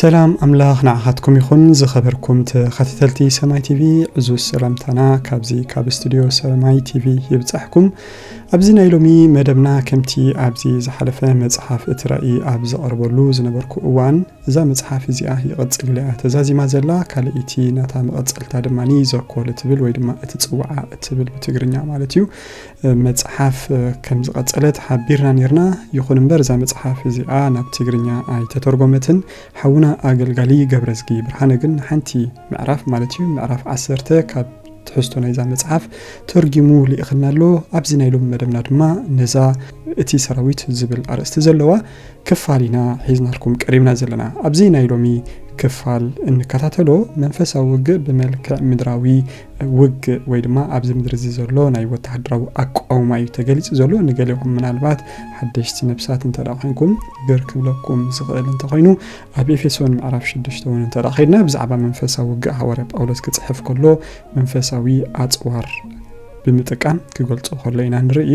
ሰላም ኣምላኽ ንዓኻትኩም ይኹን። ዝኸበርኩም ተኸታተልቲ ሰማይ ቲቪ፣ ዕዙዝ ሰላምታና ካብዚ ካብ ስቱድዮ ሰማይ ቲቪ ይብጻሕኩም። ኣብዚ ናይ ሎሚ መደብና፣ ከምቲ ኣብዚ ዝሓለፈ መጽሓፍ እቲ ራእይ ኣብ ዘቕርበሉ ዝነበርኩ እዋን፣ እዛ መጽሓፍ እዚኣ ይቕጽል ኢላ እያ ተዛዚማ ዘላ። ካልኣይቲ ናታ መቐጸልታ ድማ ዘኮል እትብል ወይ ድማ እቲ ጽዋዓ እትብል ብትግርኛ ማለት እዩ፣ መጽሓፍ ከም ዝቐጸለት ሓቢርና ኔርና። ይኹን እምበር እዛ መጽሓፍ እዚኣ ናብ ትግርኛ ኣይተተርጎመትን። ሓውና ኣገልጋሊ ገብረዝጊ ብርሃነ ግን ሓንቲ ምዕራፍ ማለት እዩ፣ ምዕራፍ ዓሰርተ ካብ ትሕዝቶ ናይዛ መጽሓፍ ተርጊሙ ልኢኽልና ኣሎ። ኣብዚ ናይ ሎሚ መደብና ድማ ነዛ እቲ ሰራዊት ዝብል ኣርእስቲ ዘለዋ ክፋል ኢና ሒዝናልኩም ቀሪብና ዘለና። ኣብዚ ናይ ሎሚ ክፋል እንከታተሎ፣ መንፈሳዊ ውግእ ብመልክዕ ምድራዊ ውግእ ወይ ድማ ኣብዚ ምድሪ እዚ ዘሎ ናይ ወተሃደራዊ ኣቃውማ እዩ ተገሊጹ ዘሎ። ንገሊኹም ምናልባት ሓደሽቲ ነብሳት እንተ ደኣ ኮይንኩም፣ ግር ክብለኩም ዝኽእል እንተኾይኑ፣ ኣብ ኤፌሶን ምዕራፍ ሽዱሽተ እውን እንተ ደኣ ኸይድና፣ ብዛዕባ መንፈሳዊ ውግእ ሃዋርያ ጳውሎስ ክጽሕፍ ከሎ መንፈሳዊ ኣጽዋር ብምጥቃም ክገልጾ ከሎ ኢና ንርኢ።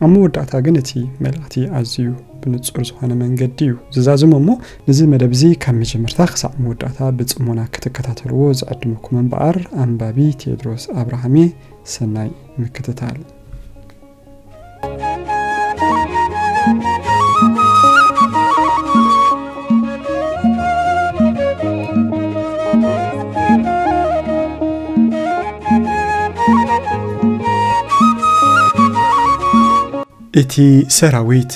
ኣብ መወዳእታ ግን እቲ መልእኽቲ ኣዝዩ ብንጹር ዝኾነ መንገዲ እዩ ዝዛዝሞ እሞ፣ ነዚ መደብ እዚ ካብ መጀመርታ ክሳዕ መወዳእታ ብጽሞና ክትከታተልዎ ዝዕድመኩም እምበኣር፣ ኣንባቢ ቴድሮስ ኣብርሃም እየ። ሰናይ ምክትታል። እቲ ሰራዊት፣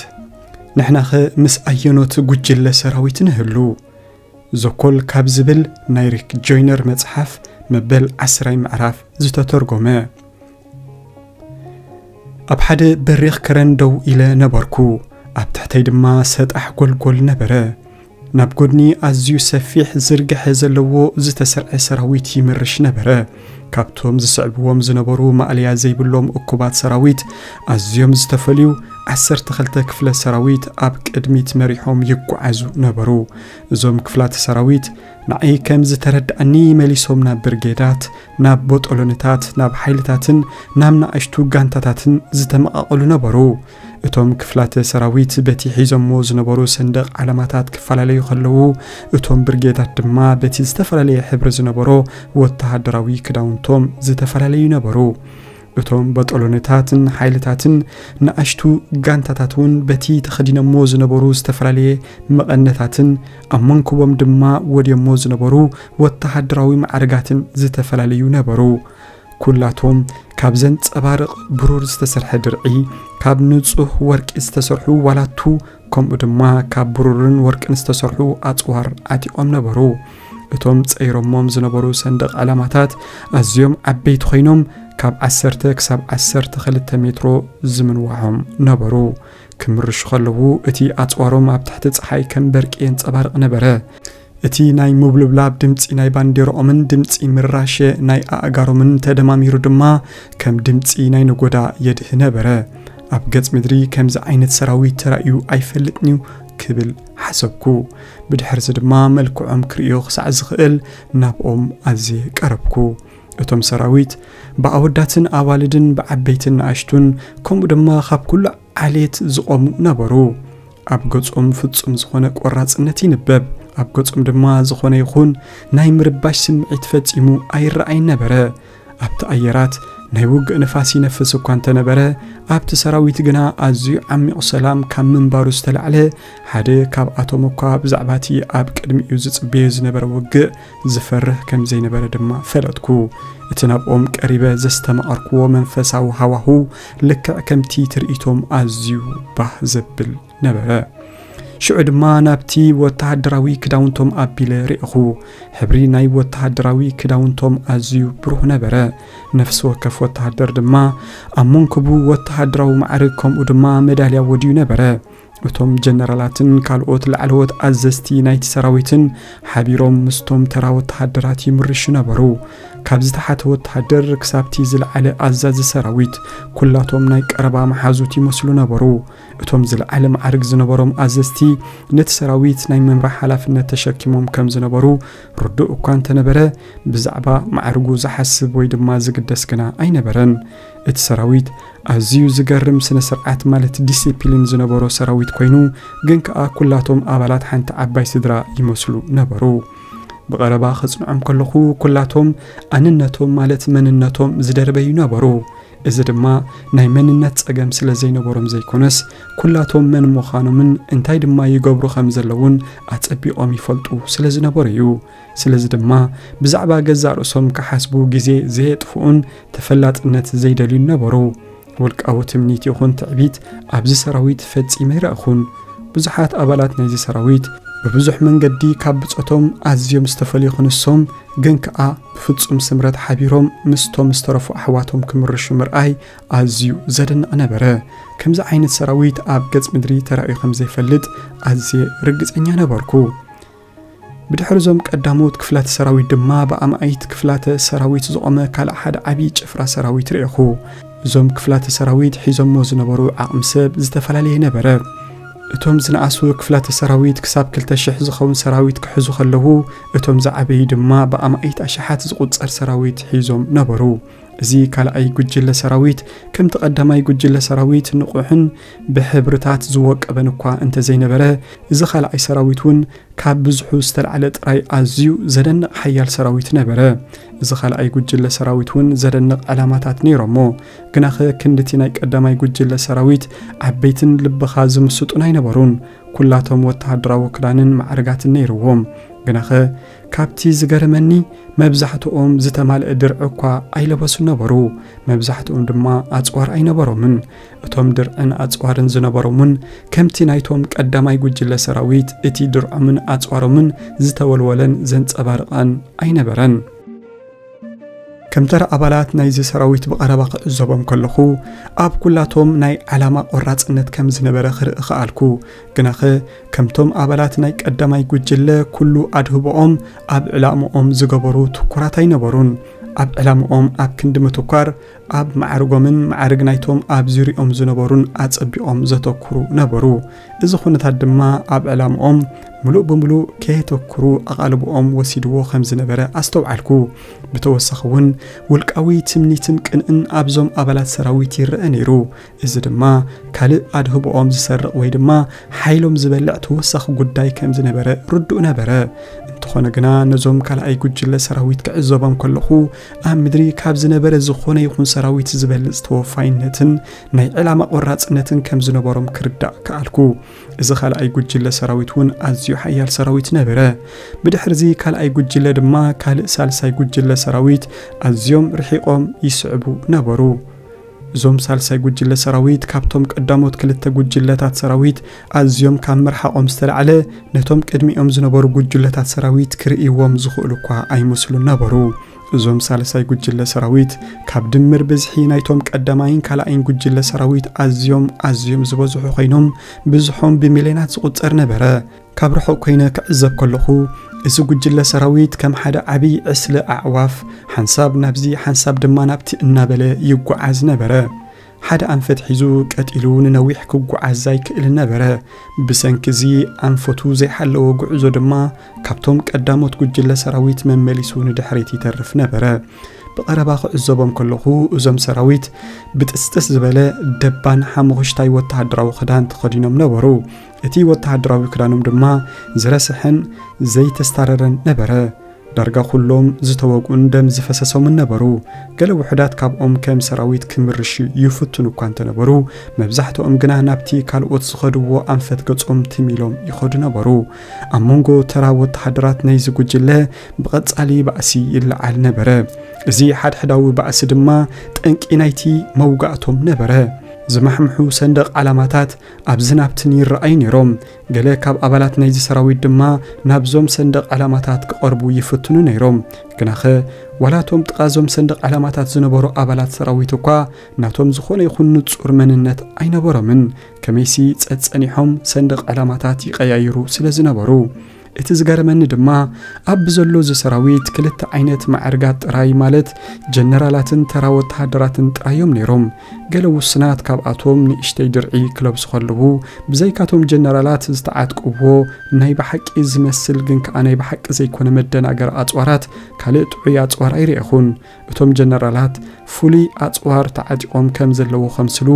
ንሕናኸ ምስ ኣየኖት ጉጅለ ሰራዊት ንህሉ? ዘኮል ካብ ዝብል ናይ ሪክ ጆይነር መጽሓፍ መበል ዓስራይ ምዕራፍ ዝተተርጎመ። ኣብ ሓደ በሪኽ ከረን ደው ኢለ ነበርኩ። ኣብ ትሕተይ ድማ ሰጣሕ ጎልጎል ነበረ። ናብ ጎድኒ ኣዝዩ ሰፊሕ ዝርግሐ ዘለዎ ዝተሰርዐ ሰራዊት ይምርሽ ነበረ። ካብቶም ዝስዕብዎም ዝነበሩ ማእለያ ዘይብሎም እኩባት ሰራዊት ኣዝዮም ዝተፈልዩ ዓሰርተ ክልተ ክፍለ ሰራዊት ኣብ ቅድሚት መሪሖም ይጓዓዙ ነበሩ። እዞም ክፍላተ ሰራዊት ንዓይ ከም ዝተረድኣኒ መሊሶም ናብ ብርጌዳት፣ ናብ ቦጦሎንታት፣ ናብ ሓይልታትን ናብ ንኣሽቱ ጋንታታትን ዝተመቓቐሉ ነበሩ። እቶም ክፍላተ ሰራዊት በቲ ሒዞሞ ዝነበሩ ሰንደቕ ዓላማታት ክፈላለዩ ከለዉ፣ እቶም ብርጌዳት ድማ በቲ ዝተፈላለየ ሕብሪ ዝነበሮ ወተሃደራዊ ክዳውንቶም ዝተፈላለዩ ነበሩ። እቶም በጦሎንታትን ሓይልታትን ንኣሽቱ ጋንታታት እውን በቲ ተኸዲኖሞ ዝነበሩ ዝተፈላለየ መቐነታትን ኣብ መንኩቦም ድማ ወድዮሞ ዝነበሩ ወተሃደራዊ ማዕርጋትን ዝተፈላለዩ ነበሩ። ኩላቶም ካብ ዘንጸባርቕ ብሩር ዝተሰርሐ ድርዒ፣ ካብ ንጹህ ወርቂ ዝተሰርሑ ዋላቱ፣ ከምኡ ድማ ካብ ብሩርን ወርቅን ዝተሰርሑ ኣጽዋር ዓጢቖም ነበሩ። እቶም ጸይሮሞም ዝነበሩ ሰንደቕ ዕላማታት ኣዝዮም ዓበይቲ ኮይኖም፣ ካብ ዓሰርተ ክሳብ ዓሰርተ ክልተ ሜትሮ ዝምንዋሖም ነበሩ። ክምርሹ ከለዉ፣ እቲ ኣጽዋሮም ኣብ ትሕቲ ጸሓይ ከም በርቂ የንጸባርቕ ነበረ። እቲ ናይ ምብልብላብ ድምጺ ናይ ባንዴራኦምን ድምጺ ምራሸ ናይ ኣእጋሮምን ተደማሚሩ ድማ ከም ድምጺ ናይ ነጎዳ የድህ ነበረ። ኣብ ገጽ ምድሪ ከምዚ ዓይነት ሰራዊት ተራእዩ ኣይፈልጥን'ዩ ክብል ሓሰብኩ። ብድሕርዚ ድማ መልክዖም ክርእዮ ክሳዕ ዝኽእል ናብኦም ኣዝየ ቀረብኩ። እቶም ሰራዊት ብኣወዳትን ኣዋልድን ብዓበይትን ንኣሽቱን ከምኡ ድማ ካብ ኩሉ ዓሌት ዝቖሙ ነበሩ። ኣብ ገጾም ፍጹም ዝኾነ ቆራጽነት ይንበብ። ኣብ ገጾም ድማ ዝኾነ ይኹን ናይ ምርባሽ ስምዒት ፈጺሙ ኣይረኣይን ነበረ። ኣብቲ ኣየራት ናይ ውግእ ንፋስ ይነፍስ እኳ እንተነበረ፣ ኣብቲ ሰራዊት ግና ኣዝዩ ዓሚቕ ሰላም ካብ ምንባሩ ዝተላዕለ፣ ሓደ ካብኣቶም እኳ ብዛዕባ እቲ ኣብ ቅድሚኡ ዝጽበዮ ዝነበረ ውግእ ዝፈርህ ከም ዘይነበረ ድማ ፈለጥኩ። እቲ ናብኦም ቀሪበ ዘስተማቐርክዎ መንፈሳዊ ሃዋሁ ልክዕ ከምቲ ትርኢቶም ኣዝዩ ባህ ዘብል ነበረ። ሽዑ ድማ ናብቲ ወተሃደራዊ ክዳውንቶም ኣቢለ ርኢኹ። ሕብሪ ናይ ወተሃደራዊ ክዳውንቶም ኣዝዩ ብሩህ ነበረ። ነፍሲ ወከፍ ወተሃደር ድማ ኣብ መንኩቡ ወተሃደራዊ ማዕርግ ከምኡ ድማ መዳልያ ወድዩ ነበረ። እቶም ጀነራላትን ካልኦት ላዕለዎት ኣዘዝቲ ናይቲ ሰራዊትን ሓቢሮም ምስቶም ተራ ወተሃደራት ይምርሹ ነበሩ። ካብ ዝተሓተ ወተሃደር ክሳብቲ ዝለዓለ ኣዛዚ ሰራዊት፣ ኩላቶም ናይ ቀረባ መሓዙት ይመስሉ ነበሩ። እቶም ዝለዓለ ማዕርግ ዝነበሮም ኣዘዝቲ ነቲ ሰራዊት ናይ ምምራሕ ሓላፍነት ተሸኪሞም ከም ዝነበሩ ርዱእ እኳ እንተነበረ፣ ብዛዕባ ማዕርጉ ዝሓስብ ወይ ድማ ዝግደስ ግና ኣይነበረን። እቲ ሰራዊት ኣዝዩ ዝገርም ስነ ስርዓት ማለት ዲሲፕሊን ዝነበሮ ሰራዊት ኮይኑ፣ ግን ከኣ ኩላቶም ኣባላት ሓንቲ ዓባይ ስድራ ይመስሉ ነበሩ። ብቐረባ ከጽንዖም ከለኹ ኩላቶም ኣንነቶም ማለት መንነቶም ዝደርበዩ ነበሩ። እዚ ድማ ናይ መንነት ጸገም ስለ ዘይነበሮም ዘይኮነስ፣ ኩላቶም መን ምዃኖምን እንታይ ድማ ይገብሩ ከም ዘለውን ኣጸቢቖም ይፈልጡ ስለ ዝነበሩ እዩ። ስለዚ ድማ ብዛዕባ ገዛእ ርእሶም ክሓስቡ ግዜ ዘየጥፍኡን ተፈላጥነት ዘይደልዩን ነበሩ። ውልቃዊ ትምኒት ይኹን ትዕቢት ኣብዚ ሰራዊት ፈጺመ ኣይረእኹን። ብዙሓት ኣባላት ናይዚ ሰራዊት ብብዙሕ መንገዲ ካብ ብጾቶም ኣዝዮም ዝተፈልዩ ክንሶም፣ ግን ከኣ ብፍጹም ስምረት ሓቢሮም ምስቶም ዝተረፉ ኣሕዋቶም ክምርሹ ምርኣይ ኣዝዩ ዘደንቕ ነበረ። ከምዚ ዓይነት ሰራዊት ኣብ ገጽ ምድሪ ተራእዩ ከም ዘይፈልጥ ኣዝየ ርግጸኛ ነበርኩ። ብድሕሪ እዞም ቀዳሞት ክፍላተ ሰራዊት ድማ ብኣማኢት ክፍላተ ሰራዊት ዝቖመ ካልእ ሓደ ዓቢ ጭፍራ ሰራዊት ርኤኹ። እዞም ክፍላተ ሰራዊት ሒዞሞ ዝነበሩ ዓቕሚ ሰብ ዝተፈላለየ ነበረ። እቶም ዝነኣሱ ክፍላተ ሰራዊት ክሳብ ክልተ ሽሕ ዝኸውን ሰራዊት ክሕዙ ከለዉ፣ እቶም ዝዓበዩ ድማ ብኣማኢት ኣሽሓት ዝቑጸር ሰራዊት ሒዞም ነበሩ። እዚ ካልኣይ ጉጅለ ሰራዊት ከምቲ ቀዳማይ ጉጅለ ሰራዊት ንቑሕን ብሕብርታት ዝወቀበን እኳ እንተዘይነበረ፣ እዚ ካልኣይ ሰራዊት እውን ካብ ብዝሑ ዝተላዕለ ጥራይ ኣዝዩ ዘደንቕ ሓያል ሰራዊት ነበረ። እዚ ካልኣይ ጉጅለ ሰራዊት እውን ዘደንቕ ዕላማታት ነይሮሞ። ግናኸ ክንድቲ ናይ ቀዳማይ ጉጅለ ሰራዊት ዓበይትን ልብኻ ዝምስጡን ኣይነበሩን። ኩላቶም ወተሃደራዊ ክዳንን ማዕርጋትን ነይርዎም። ግናኸ ካብቲ ዝገረመኒ፣ መብዛሕትኦም ዝተማልአ ድርዒ እኳ ኣይለበሱን ነበሩ። መብዛሕትኦም ድማ ኣጽዋር ኣይነበሮምን። እቶም ድርዕን ኣጽዋርን ዝነበሮም እውን ከምቲ ናይቶም ቀዳማይ ጉጅለ ሰራዊት እቲ ድርዖምን ኣጽዋሮምን ዝተወልወለን ዘንጸባርቐን ኣይነበረን። ከም ተራ ኣባላት ናይዚ ሰራዊት ብቐረባ ክዕዘቦም ከለኹ፣ ኣብ ኩላቶም ናይ ዓላማ ቆራጽነት ከም ዝነበረ ክርኢ ከኣልኩ። ግናኸ ከምቶም ኣባላት ናይ ቀዳማይ ጉጅለ ኩሉ ኣድህቦኦም ኣብ ዕላምኦም ዝገበሩ ትኩራት ኣይነበሩን። ኣብ ዕላምኦም ኣብ ክንዲ ምትኳር፣ ኣብ ማዕርጎምን ማዕርግ ናይቶም ኣብ ዙርያኦም ዝነበሩን ኣጸቢቖም ዘተኩሩ ነበሩ። እዚ ኩነታት ድማ ኣብ ዕላምኦም ምሉእ ብምሉእ ከየተኩሩ ኣቓልቦኦም ወሲድዎ ከም ዝነበረ ኣስተውዓልኩ። ብተወሳኺ እውን ውልቃዊ ትምኒትን ቅንእን ኣብዞም ኣባላት ሰራዊት ይረአ ነይሩ። እዚ ድማ ካልእ ኣድህቦኦም ዝሰርቕ ወይ ድማ ሓይሎም ዝበልዕ ተወሳኺ ጉዳይ ከም ዝነበረ ርዱእ ነበረ። እንተኾነ ግና ነዞም ካልኣይ ጉጅለ ሰራዊት ክዕዘቦም ከለኹ ኣብ ምድሪ ካብ ዝነበረ ዝኾነ ይኹን ሰራዊት ዝበልጽ ተወፋይነትን ናይ ዕላማ ቆራጽነትን ከም ዝነበሮም ክርዳእ ከኣልኩ። እዚ ካልኣይ ጉጅለ ሰራዊት እውን ኣዝዩ ሓያል ሰራዊት ነበረ። ብድሕርዚ ካልኣይ ጉጅለ ድማ ካልእ ሳልሳይ ጉጅለ ሰራዊት ኣዝዮም ርሒቖም ይስዕቡ ነበሩ። እዞም ሳልሳይ ጉጅለ ሰራዊት ካብቶም ቀዳሞት ክልተ ጉጅለታት ሰራዊት ኣዝዮም ካብ ምርሓቖም ዝተላዕለ ነቶም ቅድሚኦም ዝነበሩ ጉጅለታት ሰራዊት ክርእይዎም ዝኽእሉ እኳ ኣይመስሉን ነበሩ። እዞም ሳልሳይ ጉጅለ ሰራዊት ካብ ድምር ብዝሒ ናይቶም ቀዳማይን ካልኣይን ጉጅለ ሰራዊት ኣዝዮም ኣዝዮም ዝበዝሑ ኮይኖም ብዝሖም ብሚልዮናት ዝቑጸር ነበረ። ካብ ርሑቕ ኮይነ ክዕዘብ ከለኹ፣ እዚ ጉጅለ ሰራዊት ከም ሓደ ዓቢ ዕስለ ኣዕዋፍ ሓንሳብ ናብዚ ሓንሳብ ድማ ናብቲ እናበለ ይጓዓዝ ነበረ። ሓደ ኣንፈት ሒዙ ቀጢሉ ንነዊሕ ክጓዓዝ ኣይክእልን ነበረ። ብሰንኪ እዚ ኣንፈቱ ዘይሓለወ ጉዕዞ ድማ ካብቶም ቀዳሞት ጉጅለ ሰራዊት መመሊሱ ንድሕሪት ይተርፍ ነበረ። ብቐረባ ክዕዘቦም ከለኹ፣ እዞም ሰራዊት ብጥስጥስ ዝበለ ደባን ሓሙኽሽታይ ወተሃደራዊ ክዳን ተኸዲኖም ነበሩ። እቲ ወተሃደራዊ ክዳኖም ድማ ዝረስሐን ዘይተስታረረን ነበረ። ዳርጋ ኩሎም ዝተወግኡን ደም ዝፈሰሶምን ነበሩ። ገለ ውሑዳት ካብኦም ከም ሰራዊት ክምርሹ ይፍትኑ እኳ እንተነበሩ፣ መብዛሕትኦም ግና ናብቲ ካልኦት ዝኸድዎ ኣንፈት ገጾም ትም ኢሎም ይኸዱ ነበሩ። ኣብ መንጎ ተራ ወተሃደራት ናይዚ ጉጅለ ብቐጻሊ ባእሲ ይለዓል ነበረ። እዚ ሓድሕዳዊ ባእሲ ድማ ጠንቂ ናይቲ መውጋእቶም ነበረ። ዝማሕምሑ ሰንደቕ ዓላማታት ኣብዝን ኣብትን ይረኣዩ ነይሮም። ገለ ካብ ኣባላት ናይዚ ሰራዊት ድማ ናብዞም ሰንደቕ ዓላማታት ክቐርቡ ይፍትኑ ነይሮም። ግናኸ፣ ዋላ እቶም ጥቓ እዞም ሰንደቕ ዓላማታት ዝነበሩ ኣባላት ሰራዊት እኳ ናቶም ዝኾነ ይኹን ንጹር መንነት ኣይነበሮምን። ከመይሲ ጸጸኒሖም ሰንደቕ ዓላማታት ይቐያይሩ ስለ ዝነበሩ። እቲ ዝገረመኒ ድማ ኣብ ብዘሎ እዚ ሰራዊት ክልተ ዓይነት ማዕርጋት ጥራይ፣ ማለት ጀነራላትን ተራ ወተሃደራትን ጥራይ እዮም ነይሮም። ገለ ውሱናት ካብኣቶም ንእሽተይ ድርዒ ክለብሱ ከለዉ፣ ብዘይካቶም ጀነራላት ዝተዓጥቀዎ ናይ ብሓቂ ዝመስል ግን ከኣ ናይ ብሓቂ ዘይኮነ መደናገሪ ኣጽዋራት ካልእ ጥዑይ ኣጽዋር ኣይረኣኹን። እቶም ጀነራላት ፍሉይ ኣጽዋር ተዓጢቖም ከም ዘለዉ ከምስሉ፣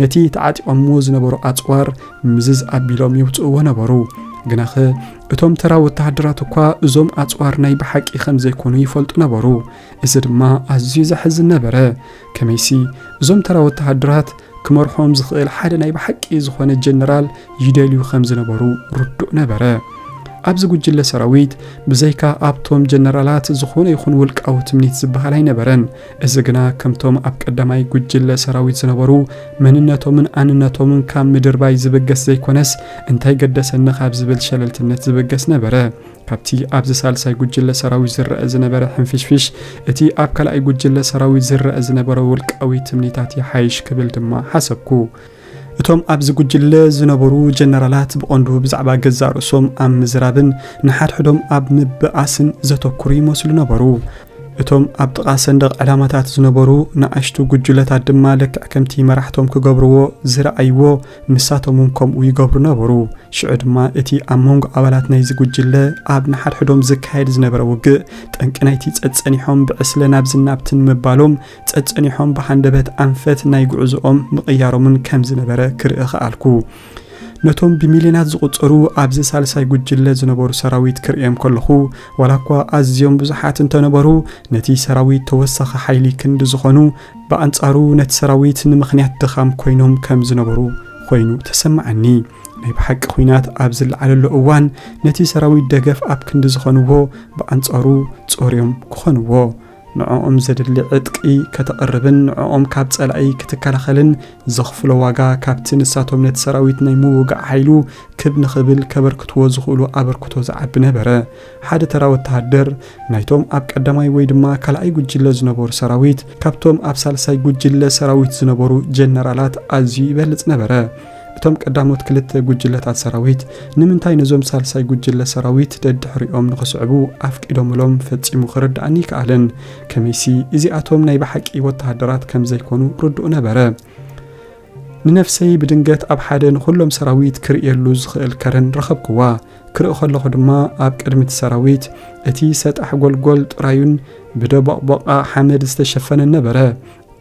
ነቲ ተዓጢቖምዎ ዝነበሩ ኣጽዋር ምዝዝ ኣቢሎም ይውጽእዎ ነበሩ። ግናኸ እቶም ተራ ወተሃደራት እኳ እዞም ኣጽዋር ናይ ብሓቂ ከም ዘይኮኑ ይፈልጡ ነበሩ። እዚ ድማ ኣዝዩ ዘሕዝን ነበረ። ከመይሲ እዞም ተራ ወተሃደራት ክመርሖም ዝኽእል ሓደ ናይ ብሓቂ ዝኾነ ጀነራል ይደልዩ ከም ዝነበሩ ርዱእ ነበረ። ኣብዚ ጉጅለ ሰራዊት ብዘይካ ኣብቶም ጀነራላት ዝኾነ ይኹን ውልቃዊ ትምኒት ዝበሃል ኣይነበረን። እዚ ግና ከምቶም ኣብ ቀዳማይ ጉጅለ ሰራዊት ዝነበሩ መንነቶምን ኣንነቶምን ካብ ምድርባይ ዝብገስ ዘይኮነስ፣ እንታይ ገደሰኒ ካብ ዝብል ሸለልትነት ዝብገስ ነበረ። ካብቲ ኣብዚ ሳልሳይ ጉጅለ ሰራዊት ዝረአ ዝነበረ ሕንፍሽፍሽ፣ እቲ ኣብ ካልኣይ ጉጅለ ሰራዊት ዝረአ ዝነበረ ውልቃዊ ትምኒታት ይሓይሽ ክብል ድማ ሓሰብኩ። እቶም ኣብዚ ጉጅለ ዝነበሩ ጀነራላት ብቐንዱ ብዛዕባ ገዛእ ርእሶም ኣብ ምዝራብን ንሓድሕዶም ኣብ ምብኣስን ዘተኩሩ ይመስሉ ነበሩ። እቶም ኣብ ጥቓ ሰንደቕ ዕላማታት ዝነበሩ ንኣሽቱ ጉጅለታት ድማ ልክዕ ከምቲ መራሕቶም ክገብርዎ ዝረኣይዎ፣ ንሳቶም እውን ከምኡ ይገብሩ ነበሩ። ሽዑ ድማ እቲ ኣብ መንጎ ኣባላት ናይዚ ጉጅለ ኣብ ንሓድሕዶም ዝካየድ ዝነበረ ውግእ፣ ጠንቂ ናይቲ ጸጸኒሖም ብዕስለ ናብዝን ናብትን ምባሎም፣ ጸጸኒሖም ብሃንደበት ኣንፈት ናይ ጉዕዞኦም ምቕያሮምን ከም ዝነበረ ክርኢ ኸኣልኩ። ነቶም ብሚልዮናት ዝቑጸሩ ኣብዚ ሳልሳይ ጉጅለ ዝነበሩ ሰራዊት ክርእዮም ከለኹ፣ ዋላ እኳ ኣዝዮም ብዙሓት እንተነበሩ፣ ነቲ ሰራዊት ተወሳኺ ሓይሊ ክንዲ ዝኾኑ፣ ብኣንጻሩ ነቲ ሰራዊት ንምኽንያት ድኻም ኮይኖም ከም ዝነበሩ ኮይኑ ተሰማዓኒ። ናይ ብሓቂ ኲናት ኣብ ዝለዓለሉ እዋን፣ ነቲ ሰራዊት ደገፍ ኣብ ክንዲ ዝኾንዎ፣ ብኣንጻሩ ጾርዮም ክኾንዎ። ንዕኦም ዘድሊ ዕጥቂ ከተቕርብን ንዕኦም ካብ ጸላኢ ክትከላኸልን ዘኽፍሎ ዋጋ፣ ካብቲ ንሳቶም ነቲ ሰራዊት ናይ ምውጋእ ሓይሉ ክብ ንኽብል ከበርክትዎ ዝኽእሉ ኣበርክቶ ዝዓቢ ነበረ። ሓደ ተራ ወተሃደር ናይቶም ኣብ ቀዳማይ ወይ ድማ ካልኣይ ጉጅለ ዝነበሩ ሰራዊት፣ ካብቶም ኣብ ሳልሳይ ጉጅለ ሰራዊት ዝነበሩ ጀነራላት ኣዝዩ ይበልጽ ነበረ። እቶም ቀዳሞት ክልተ ጉጅለታት ሰራዊት ንምንታይ ነዞም ሳልሳይ ጉጅለ ሰራዊት ደድሕሪኦም ንኽስዕቡ ኣፍቂዶምሎም ፈጺሙ ክርድኣኒ ይከኣልን። ከመይሲ እዚኣቶም ናይ ብሓቂ ወተሃደራት ከም ዘይኮኑ ርዱእ ነበረ። ንነፍሰይ ብድንገት ኣብ ሓደ ንኹሎም ሰራዊት ክርእየሉ ዝኽእል ከረን ረኸብክዋ። ክርኢ ከለኹ ድማ ኣብ ቅድሚ እቲ ሰራዊት እቲ ሰጣሕ ጎልጎል ጥራዩን ብደቦቕቦቓ ሓመድ ዝተሸፈነን ነበረ።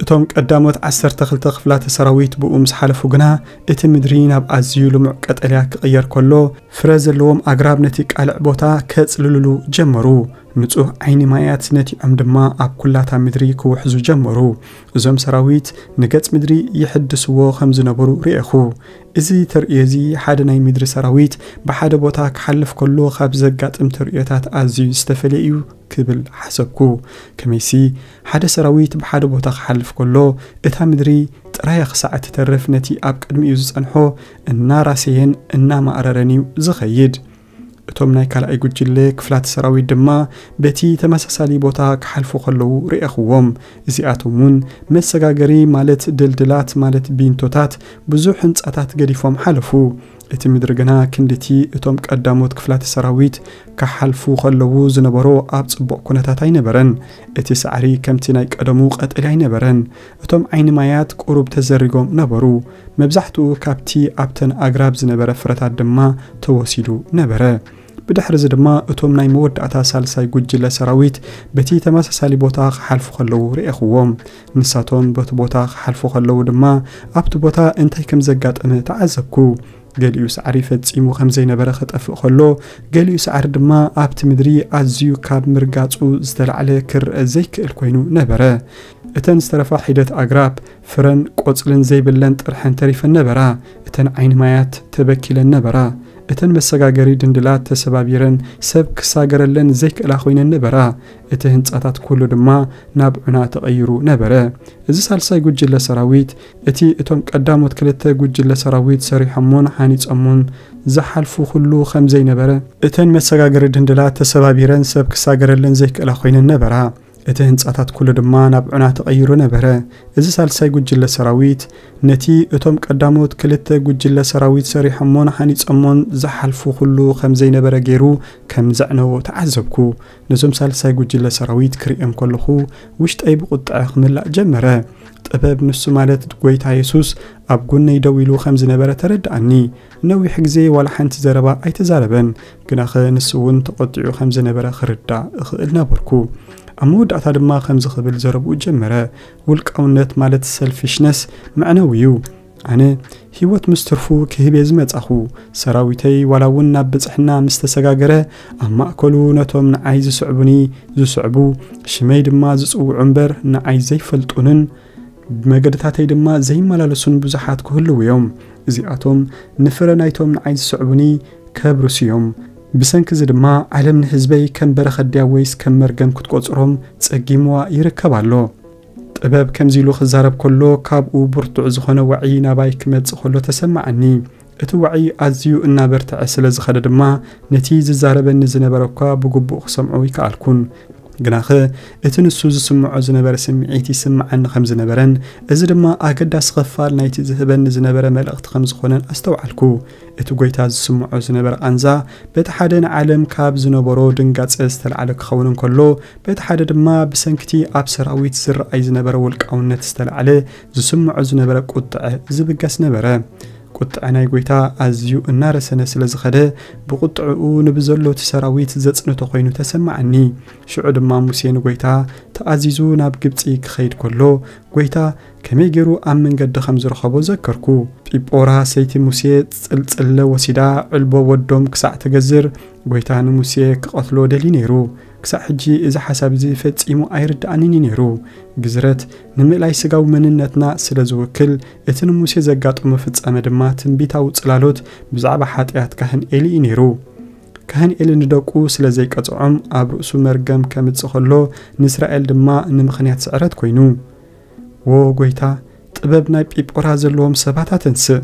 እቶም ቀዳሞት ዓሰርተ ክልተ ክፍላተ ሰራዊት ብኡ ምስ ሓለፉ ግና፣ እቲ ምድሪ ናብ ኣዝዩ ልሙዕ ቀጠልያ ክቕየር ከሎ፣ ፍረ ዘለዎም ኣግራብ ነቲ ቃልዕ ቦታ ከጽልልሉ ጀመሩ። ንጹህ ዓይኒ ማያት ነቲዖም ድማ ኣብ ኩላታ ምድሪ ክውሕዙ ጀመሩ። እዞም ሰራዊት ንገጽ ምድሪ ይሕድስዎ ከም ዝነበሩ ርእኹ። እዚ ተርእዮ እዚ ሓደ ናይ ምድሪ ሰራዊት ብሓደ ቦታ ክሓልፍ ከሎ ካብ ዘጋጥም ተርእዮታት ኣዝዩ ዝተፈልየ እዩ ክብል ሓሰብኩ። ከመይሲ ሓደ ሰራዊት ብሓደ ቦታ ክሓልፍ ከሎ እታ ምድሪ ጥራያ ክሳዕ እትተርፍ ነቲ ኣብ ቅድሚኡ ዝጸንሖ እናራሰየን እናማእረረን እዩ ዝኸይድ። እቶም ናይ ካልኣይ ጉጅለ ክፍላት ሰራዊት ድማ በቲ ተመሳሳሊ ቦታ ክሓልፉ ከለዉ ርኤኽዎም። እዚኣቶም እውን መሰጋገሪ ማለት ድልድላት ማለት ቢንቶታት ብዙሕ ህንጻታት ገዲፎም ሓለፉ። እቲ ምድሪ ግና ክንድቲ እቶም ቀዳሞት ክፍላት ሰራዊት ክሓልፉ ከለዉ ዝነበሮ ኣብ ጽቡቕ ኩነታት ኣይነበረን። እቲ ሳዕሪ ከምቲ ናይ ቀደሙ ቀጠልያ ኣይነበረን። እቶም ዓይኒ ማያት ቁሩብ ተዘሪጎም ነበሩ። መብዛሕትኡ ካብቲ ኣብተን ኣግራብ ዝነበረ ፍረታት ድማ ተወሲዱ ነበረ። ብድሕሪ እዚ ድማ እቶም ናይ መወዳእታ ሳልሳይ ጉጅለ ሰራዊት በቲ ተመሳሳሊ ቦታ ክሓልፉ ከለዉ ርኤኽዎም። ንሳቶም በቲ ቦታ ክሓልፉ ከለዉ ድማ ኣብቲ ቦታ እንታይ ከም ዘጋጠመ ተዓዘብኩ። ገሊኡ ሳዕሪ ፈጺሙ ከም ዘይነበረ ክጠፍእ ከሎ፣ ገሊኡ ሳዕሪ ድማ ኣብቲ ምድሪ ኣዝዩ ካብ ምርጋጹ ዝተላዕለ ክረአ ዘይክእል ኮይኑ ነበረ። እተን ዝተረፋ ሒደት ኣግራብ ፍረን ቆጽልን ዘይብለን ጥርሐን ተሪፈን ነበራ። እተን ዓይኒ ማያት ተበኪለን ነበራ። እተን መሰጋገሪ ድንድላት ተሰባቢረን ሰብ ክሳገረለን ዘይክእላ ኮይነን ነበራ። እቲ ህንጻታት ኩሉ ድማ ናብ ዑና ተቐይሩ ነበረ። እዚ ሳልሳይ ጉጅለ ሰራዊት፣ እቲ እቶም ቀዳሞት ክልተ ጉጅለ ሰራዊት ሰሪሖሞን ሃኒጾሞን ዝሓልፉ ኩሉ ከም ዘይነበረ፣ እተን መሰጋገሪ ድንድላት ተሰባቢረን ሰብ ክሳገረለን ዘይክእላ ኮይነን ነበራ። እቲ ህንጻታት ኩሉ ድማ ናብ ዑና ተቐይሩ ነበረ። እዚ ሳልሳይ ጉጅለ ሰራዊት ነቲ እቶም ቀዳሞት ክልተ ጉጅለ ሰራዊት ሰሪሖሞን ሃኒጾሞን ዝሓልፉ ኩሉ ከም ዘይነበረ ገይሩ ከም ዘዕነዎ ተዓዘብኩ። ነዞም ሳልሳይ ጉጅለ ሰራዊት ክርእዮም ከለኹ ውሽጠይ ብቁጥዐ ክምላእ ጀመረ። ጥበብ ንሱ ማለት ጎይታ የሱስ ኣብ ጎነይ ደው ኢሉ ከም ዝነበረ ተረድኣኒ። ነዊሕ ግዜ ዋላ ሓንቲ ዘረባ ኣይተዛረበን፣ ግናኸ ንሱ እውን ተቖጢዑ ከም ዝነበረ ክርዳእ እኽእል ነበርኩ። ኣብ መወዳእታ ድማ ከምዚ ክብል ዘረብኡ ጀመረ፣ ውልቃውነት ማለት ሰልፊሽነስ መዕነዊ እዩ። ኣነ ህይወት ምስ ትርፉ ክህብ እየ ዝመጻኹ። ሰራዊተይ ዋላ እውን ናብ ብጽሕና ምስ ተሰጋገረ፣ ኣብ ማእከሉ ነቶም ንዓይ ዝስዕቡኒ ዝስዕቡ፣ ሽመይ ድማ ዝጽውዑ እምበር ንዓይ ዘይፈልጡንን ብመገድታተይ ድማ ዘይመላለሱን ብዙሓት ክህልዉ እዮም። እዚኣቶም ንፍረ ናይቶም ንዓይ ዝስዕቡኒ ከብርሱ እዮም። ብሰንኪ እዚ ድማ ዓለም ንህዝበይ ከም በረኸት ድያ ወይስ ከም መርገም ክትቆጽሮም ጸጊምዋ ይርከብ ኣሎ። ጥበብ ከምዚ ኢሉ ክዛረብ ከሎ ካብኡ ብርቱዕ ዝኾነ ዋዒ ናባይ ክመጽእ ከሎ ተሰማዓኒ። እቲ ዋዒ ኣዝዩ እናበርትዐ ስለ ዝኸደ ድማ ነቲ ዝዛረበኒ ዝነበረ እኳ ብግቡእ ክሰምዖ ይከኣልኩን። ግናኸ እቲ ንሱ ዝስምዖ ዝነበረ ስምዒት ይስምዓኒ ከም ዝነበረን እዚ ድማ ኣገዳሲ ክፋል ናይቲ ዝህበኒ ዝነበረ መልእኽቲ ከም ዝኾነን ኣስተውዓልኩ። እቲ ጎይታ ዝስምዖ ዝነበረ ቃንዛ በቲ ሓደ ንዓለም ካብ ዝነበሮ ድንጋጸ ዝተላዕለ ክኸውን እንከሎ፣ በቲ ሓደ ድማ ብሰንክቲ ኣብ ሰራዊት ዝረኣይ ዝነበረ ውልቃውነት ዝተላዕለ ዝስምዖ ዝነበረ ቁጥዐ ዝብገስ ነበረ። ቁጥዐ ናይ ጎይታ ኣዝዩ እናረሰነ ስለ ዝኸደ፣ ብቁጥዕኡ ንብዘሎ እቲ ሰራዊት ዘጽንቶ ኮይኑ ተሰማዓኒ። ሽዑ ድማ ሙሴ ንጎይታ ተኣዚዙ ናብ ግብጺ ክኸይድ ከሎ፣ ጎይታ ከመይ ገይሩ ኣብ መንገዲ ከም ዝረኸቦ ዘከርኩ። ጲጶራ ሰይቲ ሙሴ ጽልጽለ ወሲዳ ዕልቦ ወዶም ክሳዕ ትገዝር፣ ጎይታ ንሙሴ ክቐትሎ ደልዩ ነይሩ። ክሳዕ ሕጂ እዚ ሓሳብ እዚ ፈጺሙ ኣይርድኣንን እዩ ነይሩ። ግዝረት ንምእላይ ስጋዊ መንነትና ስለ ዝውክል፣ እቲ ንሙሴ ዘጋጠሞ ፍጻመ ድማ ትንቢታዊ ጽላሎት ብዛዕባ ሓጢኣት ካህን ኤሊ እዩ ነይሩ። ካህን ኤሊ ንደቁ ስለ ዘይቀጽዖም ኣብ ርእሱ መርገም ከምጽእ ከሎ፣ ንእስራኤል ድማ ንምኽንያት ስዕረት ኮይኑ። "ዎ ጎይታ፣ ጥበብ ናይ ጲጶራ ዘለዎም ሰባት ኣተንስእ!"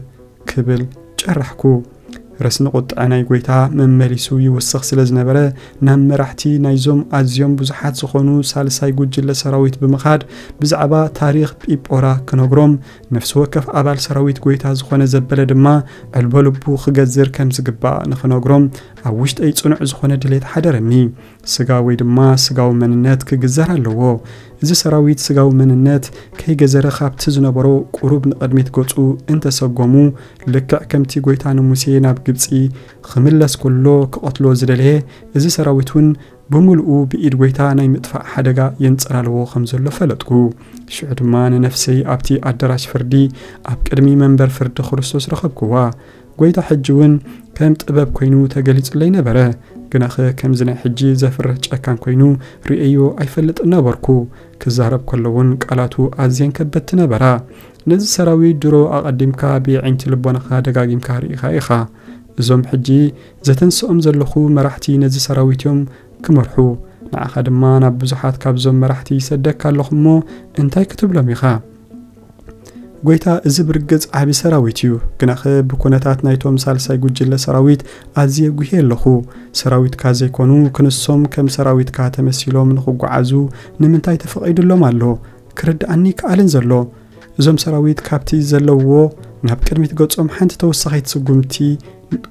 ክብል ጨራሕኩ። ረስኒ ቁጥዐ ናይ ጎይታ መመሊሱ ይውስኽ ስለ ዝነበረ፣ ናብ መራሕቲ ናይዞም ኣዝዮም ብዙሓት ዝኾኑ ሳልሳይ ጉጅለ ሰራዊት ብምኻድ ብዛዕባ ታሪኽ ጲጶራ ክነግሮም፣ ነፍሲ ወከፍ ኣባል ሰራዊት ጎይታ ዝኾነ ዘበለ ድማ ዕልቦ ልቡ ክገዝር ከም ዝግባእ ንኽነግሮም ኣብ ውሽጠይ ጽኑዕ ዝኾነ ድሌት ሓደረኒ። ስጋ ወይ ድማ ስጋዊ መንነት ክግዘር ኣለዎ። እዚ ሰራዊት ስጋዊ መንነት ከይገዘረ ካብቲ ዝነበሮ ቁሩብ ንቕድሚት ገጹ እንተሰጎሙ፣ ልክዕ ከምቲ ጎይታ ንሙሴ ናብ ግብጺ ክምለስ ከሎ ክቐትሎ ዝደለየ፣ እዚ ሰራዊት እውን ብምልኡ ብኢድ ጎይታ ናይ ምጥፋእ ሓደጋ የንጸላልዎ ከም ዘሎ ፈለጥኩ። ሽዑ ድማ ንነፍሰይ ኣብቲ ኣዳራሽ ፍርዲ ኣብ ቅድሚ መንበር ፍርዲ ክርስቶስ ረኸብክዋ። ጎይታ ሕጂ እውን ከም ጥበብ ኮይኑ ተገሊጹለይ ነበረ። ግናኸ ከምዚ ናይ ሕጂ ዘፍርህ ጨካን ኮይኑ ርእየዮ ኣይፈልጥን ነበርኩ። ክዛረብ ከሎ እውን ቃላቱ ኣዝየን ከበድቲ ነበራ። "ነዚ ሰራዊት ድሮ ኣቐዲምካ ብየዒንቲ ልቦናኻ ደጋጊምካ ርኢኻ ኢኻ። እዞም ሕጂ ዘተንስኦም ዘለኹ መራሕቲ ነዚ ሰራዊት እዮም ክመርሑ። ንዓኻ ድማ ናብ ብዙሓት ካብዞም መራሕቲ ይሰደካ ኣለኹ እሞ እንታይ ክትብሎም ኢኻ?" ጎይታ፣ እዚ ብርግጽ ዓቢ ሰራዊት እዩ፣ ግናኸ ብኩነታት ናይቶም ሳልሳይ ጉጅለ ሰራዊት ኣዝየ ጉህየ ኣለኹ። ሰራዊትካ ዘይኮኑ ክንሶም ከም ሰራዊትካ ተመሲሎም ንኽጓዓዙ ንምንታይ ተፈቒዱሎም ኣሎ? ክርድኣኒ ይከኣልን ዘሎ። እዞም ሰራዊት ካብቲ ዘለውዎ ናብ ቅድሚት ገጾም ሓንቲ ተወሳኺት ስጉምቲ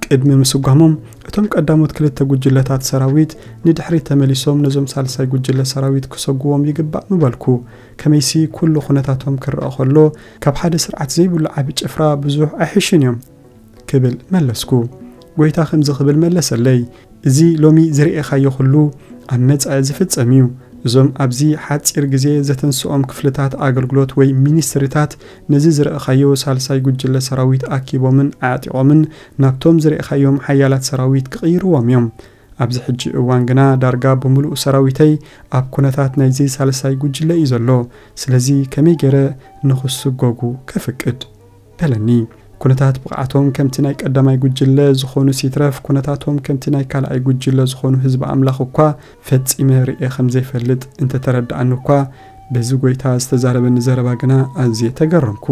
ቅድሚ ምስጓሞም፣ እቶም ቀዳሞት ክልተ ጉጅለታት ሰራዊት ንድሕሪት ተመሊሶም ነዞም ሳልሳይ ጉጅለ ሰራዊት ክሰጉዎም ይግባእ ምበልኩ። ከመይሲ ኩሉ ኩነታቶም ክረኣ ከሎ፣ ካብ ሓደ ስርዓት ዘይብሉ ዓቢ ጭፍራ ብዙሕ ኣይሕሹን እዮም ክብል መለስኩ። ጎይታ ከምዚ ክብል መለሰለይ፣ "እዚ ሎሚ ዝረኤኻዮ ኩሉ ኣብ መጻኢ ዝፍጸም እዩ። እዞም ኣብዚ ሓጺር ግዜ ዘተንስኦም ክፍልታት ኣገልግሎት ወይ ሚኒስትሪታት ነዚ ዝረኣኻዮ ሳልሳይ ጉጅለ ሰራዊት ኣኪቦምን ኣዕጢቖምን ናብቶም ዝረኣኻዮም ሓያላት ሰራዊት ክቕይርዎም እዮም። ኣብዚ ሕጂ እዋን ግና ዳርጋ ብምሉእ ሰራዊተይ ኣብ ኩነታት ናይዚ ሳልሳይ ጉጅለ እዩ ዘሎ። ስለዚ ከመይ ገይረ ንኽስጎጉ ከፍቅድ?" በለኒ። ኩነታት ብቕዓቶም ከምቲ ናይ ቀዳማይ ጉጅለ ዝኾኑ ሲትረፍ፣ ኩነታቶም ከምቲ ናይ ካልኣይ ጉጅለ ዝኾኑ ህዝቢ ኣምላኽ እኳ ፈጺመ ርእየ ከም ዘይፈልጥ እንተተረድኣኒ እኳ፣ በዚ ጎይታ ዝተዛረበኒ ዘረባ ግና ኣዝየ ተገረምኩ።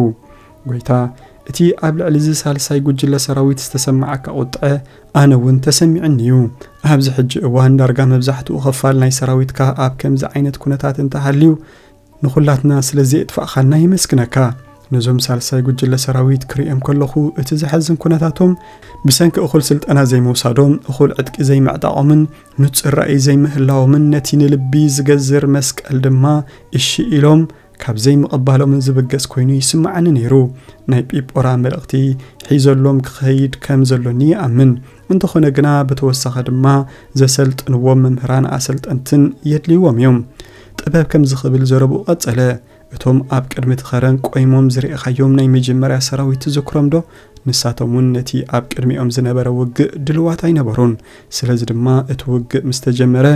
ጎይታ፣ እቲ ኣብ ልዕሊ እዚ ሳልሳይ ጉጅለ ሰራዊት ዝተሰማዓካ ቁጥዐ ኣነ እውን ተሰሚዕኒ እዩ። ኣብዚ ሕጂ እዋን ዳርጋ መብዛሕትኡ ክፋል ናይ ሰራዊትካ ኣብ ከምዚ ዓይነት ኩነታት እንተሃልዩ፣ ንኹላትና ስለ ዘየጥፋእኻልና የመስግነካ። ነዞም ሳልሳይ ጉጅለ ሰራዊት ክርእዮም ከለኹ፣ እቲ ዘሐዝን ኩነታቶም ብሰንኪ እኹል ስልጠና ዘይምውሳዶም፣ እኹል ዕጥቂ ዘይምዕጣቖምን ንጹር ራእይ ዘይምህላዎምን፣ ነቲ ንልቢ ዝገዝር መስቀል ድማ እሺ ኢሎም ካብ ዘይምቕባሎምን ዝብገስ ኮይኑ ይስምዓኒ ነይሩ። ናይ ጲጶራ መልእኽቲ ሒዘሎም ክኸይድ ከም ዘሎኒ ይኣምን። እንተኾነ ግና፣ ብተወሳኺ ድማ ዘሰልጥንዎም መምህራን ኣሰልጠንትን የድልይዎም እዮም። ጥበብ ከምዚ ክብል ዘረብኡ ቀጸለ፣ "እቶም ኣብ ቅድሚ እቲ ኸረን ቆይሞም ዝረኣኻዮም ናይ መጀመርያ ሰራዊት ትዝክሮም ዶ? ንሳቶም እውን ነቲ ኣብ ቅድሚኦም ዝነበረ ውግእ ድልዋት ኣይነበሩን። ስለዚ ድማ እቲ ውግእ ምስ ተጀመረ፣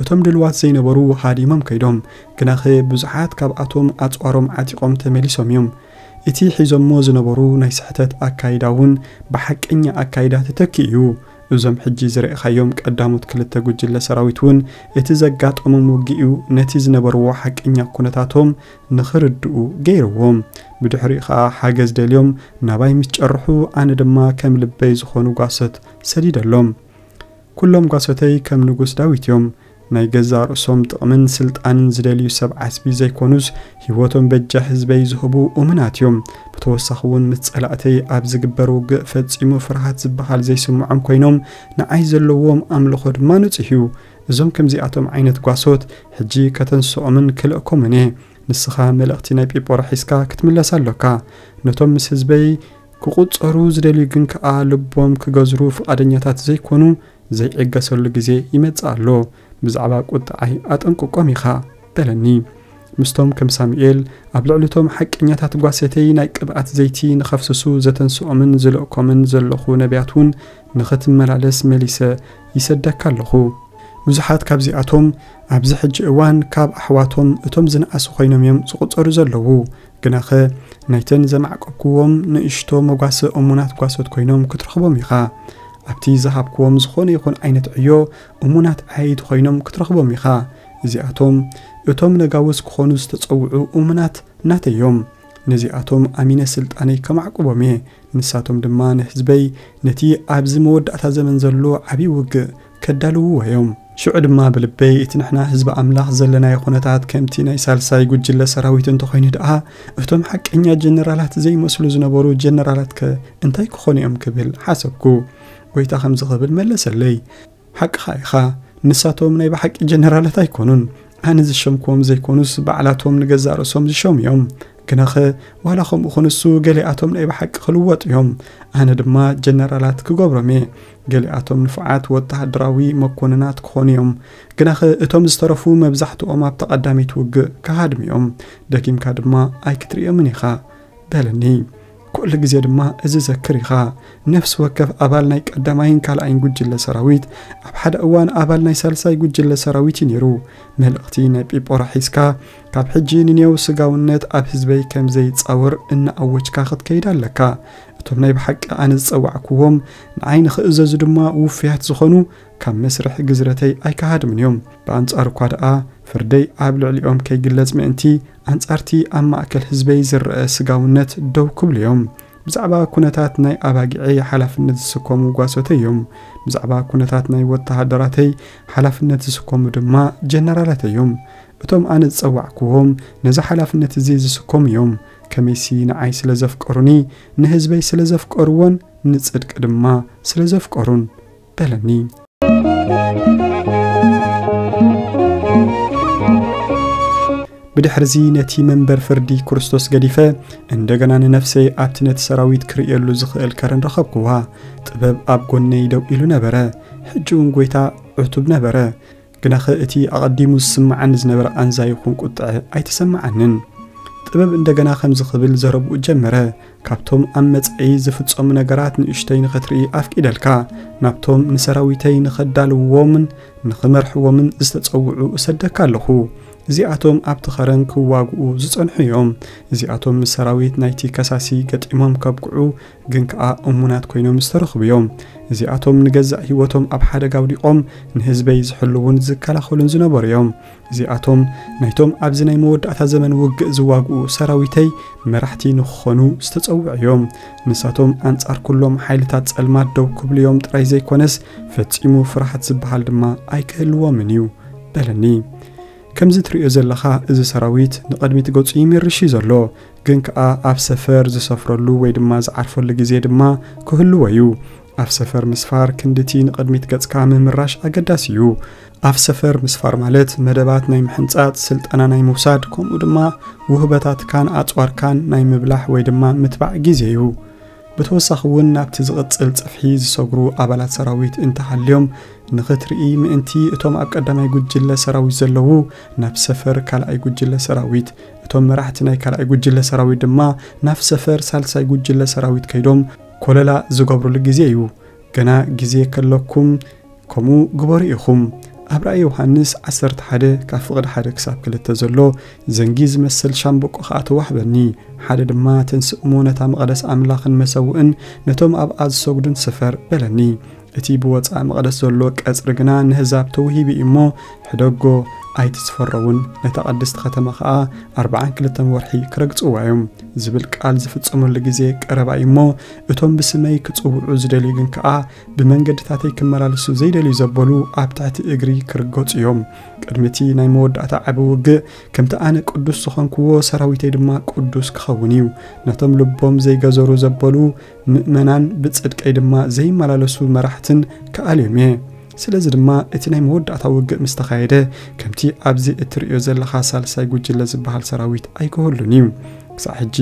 እቶም ድልዋት ዘይነበሩ ሃዲሞም ከይዶም። ግናኸ ብዙሓት ካብኣቶም ኣጽዋሮም ዓጢቖም ተመሊሶም እዮም። እቲ ሒዞሞ ዝነበሩ ናይ ስሕተት ኣካይዳ እውን ብሓቀኛ ኣካይዳ ተተኪኡ እዩ። እዞም ሕጂ ዝረኣኻዮም ቀዳሞት ክልተ ጉጅለ ሰራዊት እውን እቲ ዘጋጠሞም ውግእ እዩ ነቲ ዝነበርዎ ሓቀኛ ኩነታቶም ንኽርድኡ ገይርዎም። ብድሕሪኡ ኸኣ ሓገዝ ደልዮም ናባይ ምስ ጨርሑ፣ ኣነ ድማ ከም ልበይ ዝኾኑ ጓሶት ሰዲደሎም። ኩሎም ጓሶተይ ከም ንጉስ ዳዊት እዮም። ናይ ገዛእ ርእሶም ጥቕምን ስልጣንን ዝደልዩ ሰብ ዓስቢ ዘይኮኑስ፣ ህይወቶም በጃ ህዝበይ ዝህቡ እሙናት እዮም። ብተወሳኺ እውን ምስ ጸላእተይ ኣብ ዝግበር ውግእ ፈጺሙ ፍርሃት ዝበሃል ዘይስምዖም ኮይኖም፣ ንዓይ ዘለዎም ኣምልኾ ድማ ንጹህ እዩ። እዞም ከምዚኣቶም ዓይነት ጓሶት ሕጂ ከተንስኦምን ክልእኮምን እየ። ንስኻ መልእኽቲ ናይ ጲጶራ ሒዝካ ክትምለስ ኣሎካ። ነቶም ምስ ህዝበይ ክቑጸሩ ዝደልዩ ግን ከኣ ልቦም ክገዝሩ ፍቓደኛታት ዘይኮኑ፣ ዘይዕገሰሉ ግዜ ይመጽእ ኣሎ። ብዛዕባ ቁጥዓይ ኣጠንቅቆም ኢኻ" በለኒ። ምስቶም ከም ሳሙኤል ኣብ ልዕሊቶም ሓቀኛታት ጓሰተይ ናይ ቅብኣት ዘይቲ ንኸፍስሱ ዘተንስኦምን ዝልእኮምን ዘለኹ ነቢያት እውን ንኽትመላለስ መሊሰ ይሰደካ ኣለኹ። ብዙሓት ካብዚኣቶም ኣብዚ ሕጂ እዋን ካብ ኣሕዋቶም እቶም ዝነኣሱ ኮይኖም እዮም ዝቑጸሩ ዘለዉ። ግናኸ ናይተን ዘማዕቀብክዎም ንእሽቶ መጓሰ እሙናት ጓሶት ኮይኖም ክትረኽቦም ኢኻ። ኣብቲ ዝሃብክዎም ዝኾነ ይኹን ዓይነት ዕዮ እሙናት ዓየይቲ ኮይኖም ክትረኽቦም ኢኻ። እዚኣቶም እቶም ነጋውስ ክኾኑ ዝተጸውዑ እሙናት ናተይ እዮም። ነዚኣቶም ኣሚነ ስልጣነይ ከማዕቁቦም እየ። ንሳቶም ድማ ንህዝበይ ነቲ ኣብዚ መወዳእታ ዘመን ዘሎ ዓብዪ ውግእ ከዳልውዎ እዮም። ሽዑ ድማ ብልበይ፣ እቲ ንሕና ህዝቢ ኣምላኽ ዘለናዮ ኩነታት ከምቲ ናይ ሳልሳይ ጉጅለ ሰራዊት እንተኾይኑ ደኣ፣ እቶም ሓቀኛ ጀነራላት ዘይመስሉ ዝነበሩ ጀነራላትከ እንታይ ክኾኑ እዮም ክብል ሓሰብኩ። ጎይታ ከምዚ ክብል መለሰለይ፣ "ሓቅኻ ኢኻ፣ ንሳቶም ናይ ብሓቂ ጀነራላት ኣይኮኑን። ኣነ ዝሸምክዎም ዘይኮኑስ፣ ባዕላቶም ንገዛእ ርእሶም ዝሸሙ እዮም። ግናኸ፣ ዋላ ከምኡ ኾኑሱ፣ ገሊኣቶም ናይ ብሓቂ ክልወጡ እዮም። ኣነ ድማ ጀነራላት ክገብሮም እየ። ገሊኣቶም ንፉዓት ወተሃደራዊ መኮንናት ክኾኑ እዮም። ግናኸ፣ እቶም ዝተረፉ መብዛሕትኦም ኣብታ ቀዳመይቲ ውግእ ክሃድሙ እዮም። ደጊምካ ድማ ኣይክትርእዮምን ኢኻ" በለኒ። ኩሉ ግዜ ድማ እዚ ዘክር ኢኻ። ነፍሲ ወከፍ ኣባል ናይ ቀዳማይን ካልኣይን ጉጅለ ሰራዊት፣ ኣብ ሓደ እዋን ኣባል ናይ ሳልሳይ ጉጅለ ሰራዊት እዩ ነይሩ። መልእኽቲ ናይ ጲጶራ ሒዝካ፣ ካብ ሕጂ ንኔው ስጋውነት ኣብ ህዝበይ ከም ዘይጻወር እናኣወጅካ ክትከይድ ኣለካ። እቶም ናይ ብሓቂ ኣነ ዝጸዋዕክዎም፣ ንዓይ ንኽእዘዙ ድማ ውፉያት ዝኾኑ፣ ካብ መስርሕ ግዝረተይ ኣይከሃድሙን እዮም። ብኣንጻሩ እኳ ደኣ፣ ፍርደይ ኣብ ልዕሊኦም ከይግለጽ ምእንቲ፣ ኣንጻርቲ ኣብ ማእከል ህዝበይ ዝረአ ስጋውነት ደው ክብሉ እዮም። ብዛዕባ ኩነታት ናይ ኣባጊዐይ ሓላፍነት ዝስከሙ ጓሶተይ እዮም። ብዛዕባ ኩነታት ናይ ወተሃደራተይ ሓላፍነት ዝስከሙ ድማ ጀነራላተይ እዮም። እቶም ኣነ ዝጸዋዕክዎም ነዚ ሓላፍነት እዚ ዝስከሙ እዮም። ከመይሲ ንዓይ ስለ ዘፍቀሩኒ፣ ንህዝበይ ስለ ዘፍቀርዎን ንጽድቂ ድማ ስለ ዘፍቀሩን በለኒ። ብድሕርዚ ነቲ መንበር ፍርዲ ክርስቶስ ገዲፈ፣ እንደገና ንነፍሰይ ኣብቲ ነቲ ሰራዊት ክርእየሉ ዝኽእል ከረን ረኸብክዋ። ጥበብ ኣብ ጎነይ ደው ኢሉ ነበረ። ሕጂ እውን ጎይታ ዕቱብ ነበረ። ግናኸ እቲ ኣቐዲሙ ዝስምዓኒ ዝነበረ ቃንዛ ይኹን ቁጥዐ ኣይተሰምዓንን። ጥበብ እንደገና ከምዚ ክብል ዘረብኡ ጀመረ፣ "ካብቶም ኣብ መጻኢ ዝፍጸሙ ነገራት ንእሽተይ ንኽትርኢ ኣፍቂደልካ፣ ናብቶም ንሰራዊተይ ንኸዳልውዎምን ንኽመርሕዎምን ዝተጸውዑ እሰደካ ኣለኹ። እዚኣቶም ኣብቲ ኸረን ክዋግኡ ዝጸንሑ እዮም። እዚኣቶም ምስ ሰራዊት ናይቲ ከሳሲ ገጢሞም ከብቅዑ ግን ከኣ እሙናት ኮይኖም ዝተረኽቡ እዮም። እዚኣቶም ንገዛእ ህይወቶም ኣብ ሓደጋ ኣውዲቖም ንህዝበይ ዝሕልዉን ዝከላኸሉን ዝነበሩ እዮም። እዚኣቶም ናይቶም ኣብዚ ናይ መወዳእታ ዘመን ውግእ ዝዋግኡ ሰራዊተይ መራሕቲ ንክኾኑ ዝተጸውዑ እዮም። ንሳቶም ኣንጻር ኩሎም ሓይልታት ጸልማት ደው ክብሉ እዮም ጥራይ ዘይኮነስ ፈጺሙ ፍርሃት ዝበሃል ድማ ኣይክህልዎምን እዩ በለኒ። ከምዚ ትርእዮ ዘለኻ እዚ ሰራዊት ንቕድሚት ገጹ ይምርሽ እዩ ዘሎ፣ ግን ከኣ ኣብ ሰፈር ዝሰፍረሉ ወይ ድማ ዝዓርፈሉ ግዜ ድማ ክህልዎ እዩ። ኣብ ሰፈር ምስፋር ክንድቲ ንቕድሚት ገጽካ ምምራሽ ኣገዳሲ እዩ። ኣብ ሰፈር ምስፋር ማለት መደባት ናይ ምሕንጻጽ፣ ስልጠና ናይ ምውሳድ፣ ከምኡ ድማ ውህበታትካን ኣጽዋርካን ናይ ምብላሕ ወይ ድማ ምትባዕ ግዜ እዩ። ብተወሳኺ እውን ናብቲ ዝቕጽል ጽፍሒ ዝሰግሩ ኣባላት ሰራዊት እንተሃልዮም ንኽትርኢ ምእንቲ እቶም ኣብ ቀዳማይ ጉጅለ ሰራዊት ዘለዉ ናብ ሰፈር ካልኣይ ጉጅለ ሰራዊት፣ እቶም መራሕቲ ናይ ካልኣይ ጉጅለ ሰራዊት ድማ ናብ ሰፈር ሳልሳይ ጉጅለ ሰራዊት ከይዶም ኮለላ ዝገብሩሉ ግዜ እዩ። ገና ግዜ ከለኩም ከምኡ ግበሩ ኢኹም። ኣብ ራእይ ዮሃንስ ዓሰርተ ሓደ ካብ ፍቕዲ ሓደ ክሳብ ክልተ ዘሎ ዘንጊ ዝመስል ሻምበቆ ኸኣ ተዋህበኒ። ሓደ ድማ ተንስእ እሞ ነታ መቕደስ ኣምላኽን መሰውእን ነቶም ኣብኣ ዝሰግዱን ስፈር በለኒ። እቲ ብወጻኢ መቕደስ ዘሎ ቀጽሪ ግና ንህዛብ ተውሂቡ እዩ እሞ ሕደጎ ኣይትስፈረውን። ነታ ቅድስቲ ከተማ ኸኣ ኣርብዓን ክልተን ወርሒ ክረግጽዋ እዮም። ዝብል ቃል ዝፍጸመሉ ግዜ ቀረባ እዩ እሞ እቶም ብስመይ ክጽውዑ ዝደልዩ ግን ከኣ ብመንገድታተይ ክመላለሱ ዘይደልዩ ዘበሉ ኣብ ትሕቲ እግሪ ክርገጹ እዮም። ቅድሚ እቲ ናይ መወዳእታ ዓቢ ውግእ ከምቲ ኣነ ቅዱስ ዝኾንክዎ ሰራዊተይ ድማ ቅዱስ ክኸውን እዩ። ነቶም ልቦም ዘይገዘሩ ዘበሉ ምእመናን ብጽድቀይ ድማ ዘይመላለሱ መራሕትን ክኣልዮም እየ። ስለዚ ድማ እቲ ናይ መወዳእታ ውግእ ምስ ተኻየደ ከምቲ ኣብዚ እትርእዮ ዘለኻ ሳልሳይ ጉጅለ ዝበሃል ሰራዊት ኣይክህሉን እዩ። ክሳዕ ሕጂ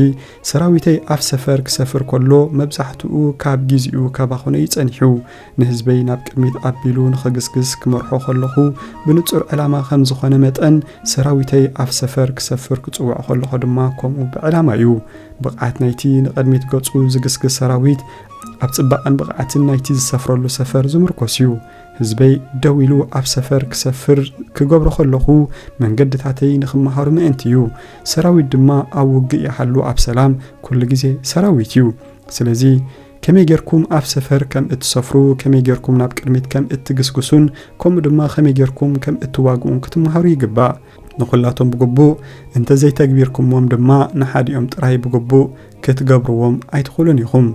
ሰራዊተይ ኣብ ሰፈር ክሰፍር ከሎ መብዛሕትኡ ካብ ግዜኡ ከባኸኖ እዩ ጸኒሑ። ንህዝበይ ናብ ቅድሚት ኣቢሉ ንኽግስግስ ክመርሖ ከለኹ ብንጹር ዕላማ ከም ዝኾነ መጠን ሰራዊተይ ኣብ ሰፈር ክሰፍር ክጽውዖ ከለኹ ድማ ከምኡ ብዕላማ እዩ። ብቕዓት ናይቲ ንቕድሚት ገጹ ዝግስግስ ሰራዊት ኣብ ጽባቐን ብቕዓትን ናይቲ ዝሰፍረሉ ሰፈር ዝምርኮስ እዩ። ህዝበይ ደው ኢሉ ኣብ ሰፈር ክሰፍር ክገብሮ ከለኹ መንገድታተይ ንኽመሃሩ ምእንቲ እዩ። ሰራዊት ድማ ኣብ ውግእ ይሃሉ ኣብ ሰላም ኩሉ ግዜ ሰራዊት እዩ። ስለዚ ከመይ ጌርኩም ኣብ ሰፈር ከም እትሰፍሩ፣ ከመይ ጌርኩም ናብ ቅድሚት ከም እትግስግሱን ከምኡ ድማ ከመይ ጌርኩም ከም እትዋግኡን ክትመሃሩ ይግባእ። ንኹላቶም ብግቡእ እንተ ዘይተግቢርኩሞም ድማ ንሓዲኦም ጥራይ ብግቡእ ክትገብርዎም ኣይትኽእሉን ኢኹም።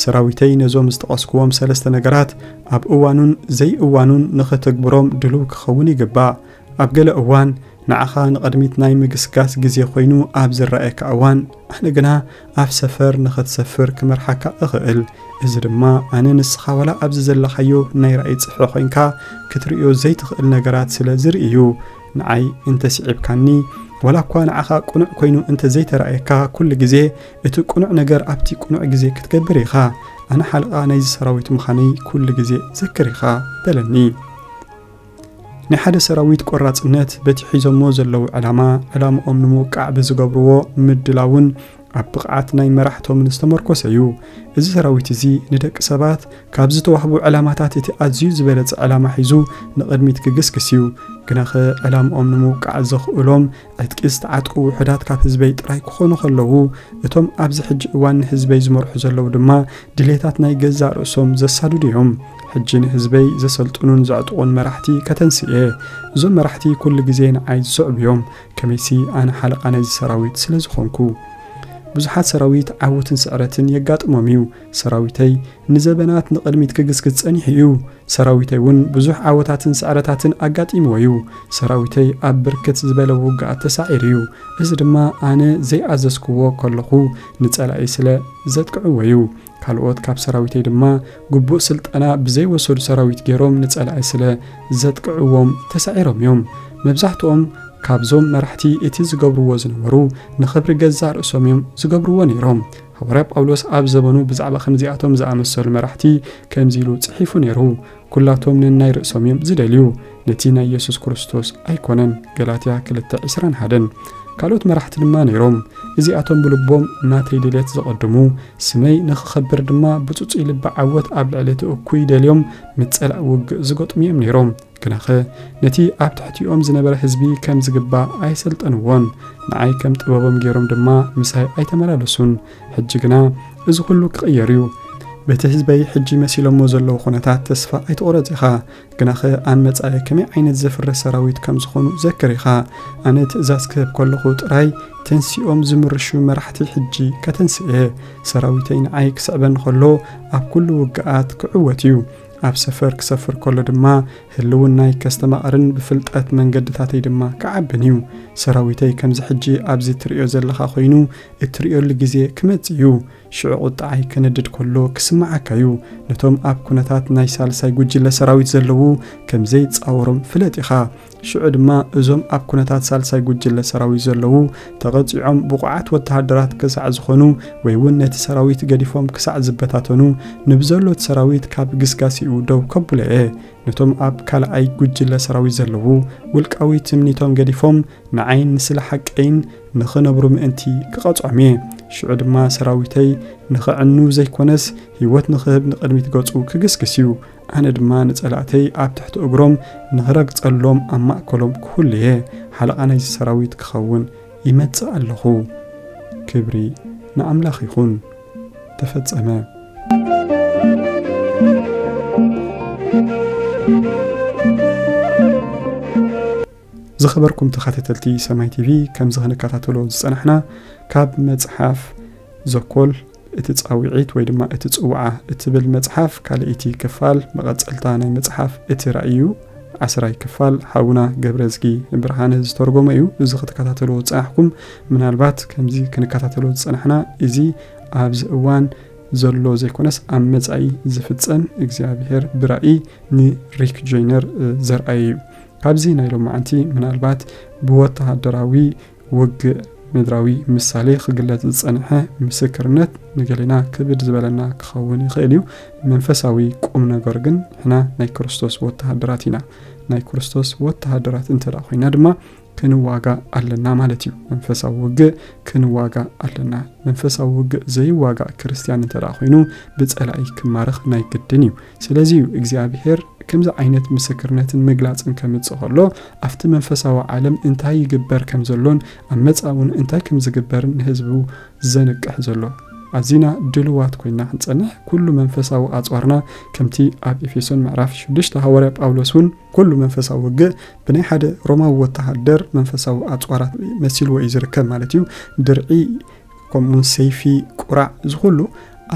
ሰራዊተይ ነዞም ዝጠቐስክዎም ሰለስተ ነገራት ኣብ እዋኑን ዘይእዋኑን ንኽትግብሮም ድሉው ክኸውን ይግባእ። ኣብ ገለ እዋን ንዓኻ ንቕድሚት ናይ ምግስጋስ ግዜ ኮይኑ ኣብ ዝረኣየካ እዋን ኣነ ግና ኣብ ሰፈር ንኽትሰፍር ክመርሓካ እኽእል። እዚ ድማ ኣነ ንስኻ ዋላ ኣብዚ ዘለኻዮ ናይ ራእይ ጽፍሒ ኮይንካ ክትርእዮ ዘይትኽእል ነገራት ስለ ዝርኢ እዩ። ንዓይ እንተ ስዒብካኒ ዋላ እኳ ንዓኻ ቅኑዕ ኮይኑ እንተ ዘይተራእየካ ኩሉ ግዜ እቲ ቅኑዕ ነገር ኣብቲ ቅኑዕ ግዜ ክትገብር ኢኻ። ኣነ ሓለቓ ናይዚ ሰራዊት ምዃነይ ኩሉ ግዜ ዘክር ኢኻ በለኒ። ናይ ሓደ ሰራዊት ቆራጽነት በቲ ሒዞሞ ዘለዉ ዕላማ ዕላምኦም ንምውቃዕ ብዝገብርዎ ምድላውን ኣብ ብቕዓት ናይ መራሕቶምን ዝተመርኮሰ እዩ። እዚ ሰራዊት እዚ ንደቂ ሰባት ካብ ዝተዋህቡ ዕላማታት እቲ ኣዝዩ ዝበለጸ ዕላማ ሒዙ ንቕድሚት ክግስግስ እዩ። ግናኸ ዕላምኦም ንምውቃዕ ዘኽእሎም ዕጥቂ ዝተዓጥቁ ውሑዳት ካብ ህዝበይ ጥራይ ክኾኑ ከለዉ እቶም ኣብዚ ሕጂ እዋን ንህዝበይ ዝመርሑ ዘለዉ ድማ ድሌታት ናይ ገዛእ ርእሶም ዘሳድዱ እዮም። ሕጂ ንህዝበይ ዘሰልጥኑን ዘዕጥቑን መራሕቲ ከተንስእ እየ። እዞም መራሕቲ ኩሉ ግዜ ንዓይ ዝስዕቡ እዮም። ከመይሲ ኣነ ሓለቓ ናይዚ ሰራዊት ስለ ዝኾንኩ። ብዙሓት ሰራዊት ዓወትን ስዕረትን የጋጥሞም እዩ። ሰራዊተይ ንዘበናት ንቕድሚት ክግስግስ ጸኒሑ እዩ። ሰራዊተይ እውን ብዙሕ ዓወታትን ስዕረታትን ኣጋጢምዎ እዩ። ሰራዊተይ ኣብ ብርክት ዝበለ ውግኣት ተሳዒሩ እዩ። እዚ ድማ ኣነ ዘይኣዘዝክዎ ከለኹ ንጸላኢ ስለ ዘጥቅዕዎ እዩ። ካልኦት ካብ ሰራዊተይ ድማ ግቡእ ስልጠና ብዘይወሰዱ ሰራዊት ገይሮም ንጸላኢ ስለ ዘጥቅዕዎም ተሳዒሮም እዮም። መብዛሕትኦም ካብዞም መራሕቲ እቲ ዝገብርዎ ዝነበሩ ንኽብሪ ገዛእ ርእሶም እዮም ዝገብርዎ ነይሮም። ሃዋርያ ጳውሎስ ኣብ ዘበኑ ብዛዕባ ከምዚኣቶም ዝኣመሰሉ መራሕቲ ከምዚ ኢሉ ጽሒፉ ነይሩ፣ "ኩላቶም ነናይ ርእሶም እዮም ዝደልዩ፣ ነቲ ናይ የሱስ ክርስቶስ ኣይኮነን።" ገላትያ ክልተ ዕስራን ሓደን። ካልኦት መራሕቲ ድማ ነይሮም። እዚኣቶም ብልቦም ናተይ ድሌት ዘቐድሙ፣ ስመይ ንኽኸብር ድማ ብጽጹይ ልቢ ዓወት ኣብ ልዕሊ እቲ እኩይ ደልዮም ምጸላእ ውግእ ዝገጥሙ እዮም ነይሮም። ግናኸ ነቲ ኣብ ትሕቲኦም ዝነበረ ህዝቢ ከም ዝግባእ ኣይሰልጠንዎን። ንዓይ ከም ጥበቦም ገይሮም ድማ ምሳይ ኣይተመላለሱን። ሕጂ ግና እዚ ኹሉ ክቕየር እዩ። በቲ ህዝበይ ሕጂ መሲሎሞ ዘለዉ ኩነታት ተስፋ ኣይትቑረጽ ኢኻ። ግናኸ ኣብ መጻኢ ከመይ ዓይነት ዘፍርህ ሰራዊት ከም ዝኾኑ ዘክር ኢኻ። ኣነ ትእዛዝ ክህብ ከለኹ ጥራይ ተንሲኦም ዝምርሹ መራሕቲ ሕጂ ከተንስእ እየ። ሰራዊተይ ንዓይ ክስዕበኒ ከሎ ኣብ ኩሉ ውግኣት ክዕወት እዩ። ኣብ ሰፈር ክሰፍር ከሎ ድማ ህልውናይ ከስተማቕርን ብፍልጠት መንገድታተይ ድማ ክዓብን እዩ። ሰራዊተይ ከምዚ ሕጂ ኣብዚ ትርእዮ ዘለኻ ኮይኑ እትርእየሉ ግዜ ክመጽእ እዩ። ሽዑ ቁጥዓይ ክነድድ ከሎ ክስምዓካ እዩ። ነቶም ኣብ ኩነታት ናይ ሳልሳይ ጉጅለ ሰራዊት ዘለዉ ከም ዘይጻወሮም ፍለጥ ኢኻ። ሽዑ ድማ እዞም ኣብ ኩነታት ሳልሳይ ጉጅለ ሰራዊት ዘለዉ ተቐጺዖም ብቑዓት ወተሃደራት ክሳዕ ዝኾኑ ወይ እውን ነቲ ሰራዊት ገዲፎም ክሳዕ ዝበታተኑ ንብዘሎ እቲ ሰራዊት ካብ ግስጋሴኡ ደው ከብሎ እየ። ነቶም ኣብ ካልኣይ ጉጅለ ሰራዊት ዘለዉ ውልቃዊ ትምኒቶም ገዲፎም ንዓይን ንስለ ሓቀይን ንኽነብሩ ምእንቲ ክቐጽዖም እየ። ሽዑ ድማ ሰራዊተይ ንኽዕኑ ዘይኮነስ ህይወት ንኽህብ ንቕድሚት ገጹ ክግስግስ እዩ። ኣነ ድማ ንጸላእተይ ኣብ ትሕቲ እግሮም ንኽረግጸሎም ኣብ ማእከሎም ክህሉ እየ። ሓለቓ ናይዚ ሰራዊት ክኸውን ይመጽእ ኣለኹ። ክብሪ ንኣምላኽ ይኹን። ተፈጸመ። ዝኸበርኩም ተኸታተልቲ ሰማይ ቲቪ፣ ከምዚ ክንከታተሎ ዝጸናሕና ካብ መጽሓፍ ዘኮል እቲ ጻውዒት ወይ ድማ እቲ ጽውዓ እትብል መጽሓፍ ካልኣይቲ ክፋል መቐጸልታ ናይ መጽሓፍ እቲ ራእይ እዩ። ዓስራይ ክፋል ሓውና ገብረዝጊ ብርሃነ ዝተርጎመ እዩ። እዚ ክትከታተልዎ ዝጸናሕኩም፣ ምናልባት ከምዚ ክንከታተሎ ዝጸናሕና፣ እዚ ኣብዚ እዋን ዘሎ ዘይኮነስ ኣብ መጻኢ ዝፍጸም እግዚኣብሔር ብራእይ ንሪክ ጆይነር፣ እ፣ ዘርኣየ እዩ። ካብዚ ናይ ሎማዓንቲ ምናልባት ብወተሃደራዊ ውግእ ምድራዊ ምሳሌ ክግለጽ ዝጸንሐ ምስክርነት ንገሌና ክብድ ዝበለና ክኸውን ይኽእል እዩ። መንፈሳዊ ቁም ነገር ግን ንሕና ናይ ክርስቶስ ወተሃደራት ኢና። ናይ ክርስቶስ ወተሃደራት እንተ ደኣ ኮይና ድማ ክንዋጋእ ኣለና ማለት እዩ። መንፈሳዊ ውግእ ክንዋጋእ ኣለና። መንፈሳዊ ውግእ ዘይዋጋእ ክርስትያን እንተ ደኣ ኮይኑ ብጸላኢ ክማረኽ ናይ ግድን እዩ። ስለዚ እዩ እግዚኣብሔር ከምዚ ዓይነት ምስክርነትን ምግላጽን ከምጽእ ከሎ ኣብቲ መንፈሳዊ ዓለም እንታይ ይግበር ከም ዘሎን ኣብ መጻኢ እውን እንታይ ከም ዝግበርን ንህዝቡ ዘንቅሕ ዘሎ። ኣዚና ድልዋት ኮይና ክንጸንሕ ኩሉ መንፈሳዊ ኣጽዋርና ከምቲ ኣብ ኤፌሶን ምዕራፍ ሽዱሽተ ሃዋርያ ጳውሎስ እውን ኩሉ መንፈሳዊ ውግእ ብናይ ሓደ ሮማዊ ወተሃደር መንፈሳዊ ኣጽዋራት መሲልዎ እዩ ዝርከብ ማለት እዩ። ድርዒ ከምኡውን ሰይፊ፣ ቁራዕ፣ እዚ ኩሉ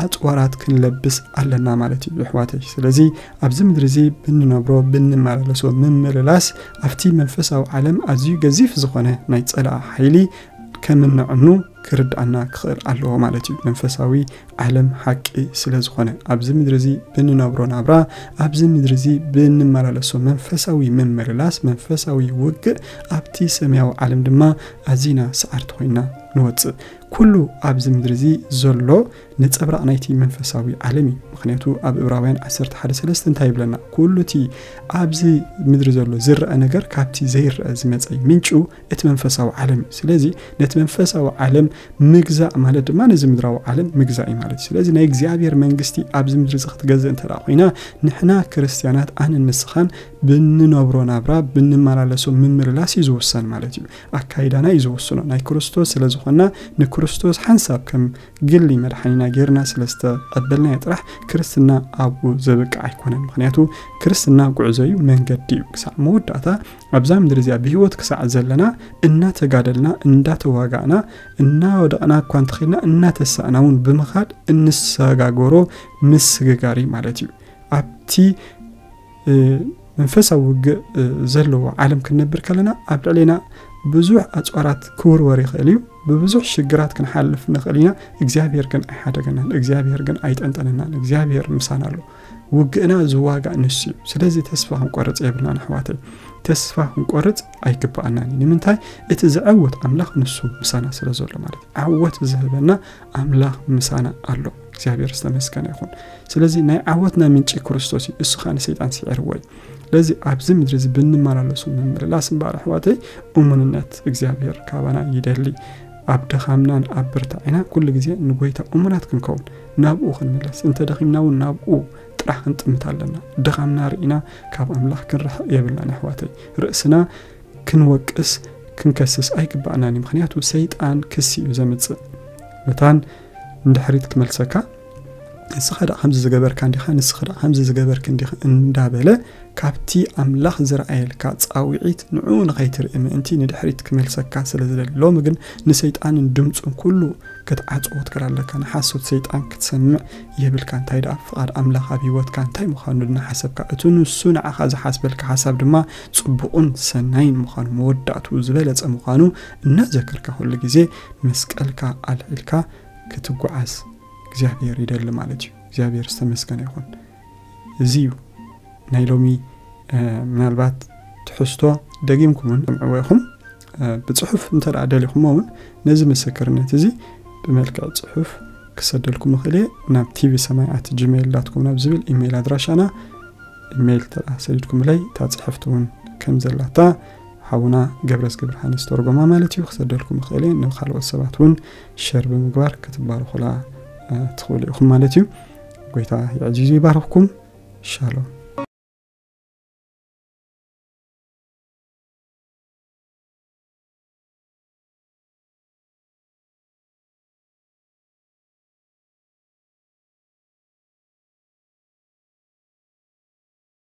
ኣጽዋራት ክንለብስ ኣለና ማለት እዩ ኣሕዋተይ። ስለዚ ኣብዚ ምድሪ እዚ ብንነብሮ ብንመላለሶ ምምልላስ ኣብቲ መንፈሳዊ ዓለም ኣዝዩ ገዚፍ ዝኾነ ናይ ጸላኢ ሓይሊ ከም እንዕኑ ክርድኣና ክኽእል ኣለዎ ማለት እዩ። መንፈሳዊ ዓለም ሓቂ ስለ ዝኾነ ኣብዚ ምድሪ እዚ ብንነብሮ ናብራ ኣብዚ ምድሪ እዚ ብንመላለሶ መንፈሳዊ ምምልላስ መንፈሳዊ ውግእ ኣብቲ ሰማያዊ ዓለም ድማ ኣዚና ሰዓርቲ ኮይና ንወጽእ። ኩሉ ኣብዚ ምድሪ እዚ ዘሎ ነጸብራቕ ናይቲ መንፈሳዊ ዓለም እዩ። ምኽንያቱ ኣብ ዕብራውያን ዓሰርተ ሓደ ሰለስተ እንታይ ይብለና? ኩሉ እቲ ኣብዚ ምድሪ ዘሎ ዝረአ ነገር ካብቲ ዘይረአ ዝመጸ እዩ። ምንጩ እቲ መንፈሳዊ ዓለም እዩ። ስለዚ ነቲ መንፈሳዊ ዓለም ምግዛእ ማለት ድማ ነዚ ምድራዊ ዓለም ምግዛእ እዩ ማለት እዩ። ስለዚ ናይ እግዚኣብሔር መንግስቲ ኣብዚ ምድሪ እዚ ክትገዝእ እንተ ደኣ ኮይና ንሕና ክርስትያናት ኣነን ንስኻን ብንነብሮ ናብራ ብንመላለሶ ምምልላስ እዩ ዝውሰን ማለት እዩ። ኣካይዳና እዩ ዝውስኖ። ናይ ክርስቶስ ስለ ዝኾንና ንክርስቶስ ሓንሳብ ከም ግሊ መድሓኒና ጌርና ስለ ዝተቐበልናዮ ጥራሕ ክርስትና ኣብኡ ዘብቅዕ ኣይኮነን። ምኽንያቱ ክርስትና ጉዕዞ እዩ፣ መንገዲ እዩ። ክሳዕ መወዳእታ ኣብዛ ምድሪ እዚኣ ብህይወት ክሳዕ ዘለና እናተጋደልና እንዳተዋጋእና እናወደቕና እኳ እንተኺድና እናተሳእና እውን ብምኻድ እንሰጋገሮ ምስግጋር እዩ ማለት እዩ። ኣብቲ መንፈሳዊ ውግእ ዘለዎ ዓለም ክንነብር ከለና ኣብ ልዕሌና ብዙሕ ኣጽዋራት ክውርወር ይኽእል እዩ። ብብዙሕ ሽግራት ክንሓልፍ ንኽእል ኢና። እግዚኣብሔር ግን ኣይሓደገናን። እግዚኣብሔር ግን ኣይጠንጠነናን። እግዚኣብሔር ምሳና ኣሎ። ውግእና ዝዋጋእ ንሱ እዩ። ስለዚ ተስፋ ክንቆርጽ የብልናን ኣሕዋተይ። ተስፋ ክንቆርጽ ኣይግባኣናን እዩ። ንምንታይ? እቲ ዝዕውት ኣምላኽ ንሱ ምሳና ስለ ዘሎ ማለት እዩ። ዓወት ዝህበና ኣምላኽ ምሳና ኣሎ። እግዚኣብሔር ዝተመስገነ ይኹን። ስለዚ ናይ ዓወትና ምንጪ ክርስቶስ እዩ። እሱ ኸኣ ንሰይጣን ስዒርዎ እዩ። ስለዚ ኣብዚ ምድሪ እዚ ብንመላለሱ ምምልላስ እምበኣር ኣሕዋተይ እሙንነት እግዚኣብሔር ካባና ይደሊ። ኣብ ድኻምናን ኣብ ብርታዕና ኩሉ ግዜ ንጎይታ እሙናት ክንከውን፣ ናብኡ ክንምለስ፣ እንተ ደኺምና እውን ናብኡ ጥራሕ ክንጥምት ኣለና። ድኻምና ርኢና ካብ ኣምላኽ ክንርሕቕ የብልናን ኣሕዋተይ። ርእስና ክንወቅስ ክንከስስ ኣይግባእናን እዩ። ምኽንያቱ ሰይጣን ክሲ እዩ ዘምጽእ። መታን ንድሕሪት ክመልሰካ፣ ንስኻ ደኣ ከምዚ ዝገበርካ እንዲኻ፣ ንስኻ ደኣ ከምዚ ዝገበርክ እንዲኻ እንዳበለ ካብቲ ኣምላኽ ዝረኣየልካ ጻውዒት ንዕኡ ንኸይትርኢ ምእንቲ ንድሕሪት ክመልሰካ ስለ ዝደሊ። ሎሚ ግን ንሰይጣንን ድምጹን ኩሉ ክትዓጽዎ ትክእል ኣለካ። ንሓሶት ሰይጣን ክትሰምዕ የብልካ። እንታይ ደኣ ፍቓድ ኣምላኽ ኣብ ህይወትካ እንታይ ምዃኑ እናሓሰብካ፣ እቲ ንሱ ንዓኻ ዝሓስበልካ ሓሳብ ድማ ጽቡቕን ሰናይን ምዃኑ፣ መወዳእትኡ ዝበለጸ ምዃኑ እናዘከርካ ኩሉ ግዜ መስቀልካ ኣልዒልካ ክትጓዓዝ እግዚኣብሔር ይደሊ ማለት እዩ። እግዚኣብሔር ዝተመስገነ ይኹን። እዚ እዩ ናይ ሎሚ፣ እ፣ ምናልባት ትሕዝቶ ደጊምኩም እውን ትሰምዕዎ ኢኹም። እ፣ ብጽሑፍ እንተ ደኣ ደሊኹሞ እውን ነዚ ምስክርነት እዚ ብመልክዕ ጽሑፍ ክሰደልኩም እኽእል እየ። ናብ ቲቪ ሰማይ ኣት ጂሜይል ዳት ኮም ናብ ዝብል ኢሜይል ኣድራሻና ኢሜይል እንተ ደኣ ሰዲድኩምለይ፣ እታ ጽሕፍቲ እውን ከም ዘላታ ሓውና ገብረዝጊ ብርሃን ዝተርጎማ ማለት እዩ፣ ክሰደልኩም እኽእል እየ። ንኻልኦት ሰባት እውን ሸር ብምግባር ክትባረኹላ፣ እ፣ ትኽእሉ ኢኹም ማለት እዩ። ጎይታ የዕዚዙ ይባርኽኩም። ሻሎም።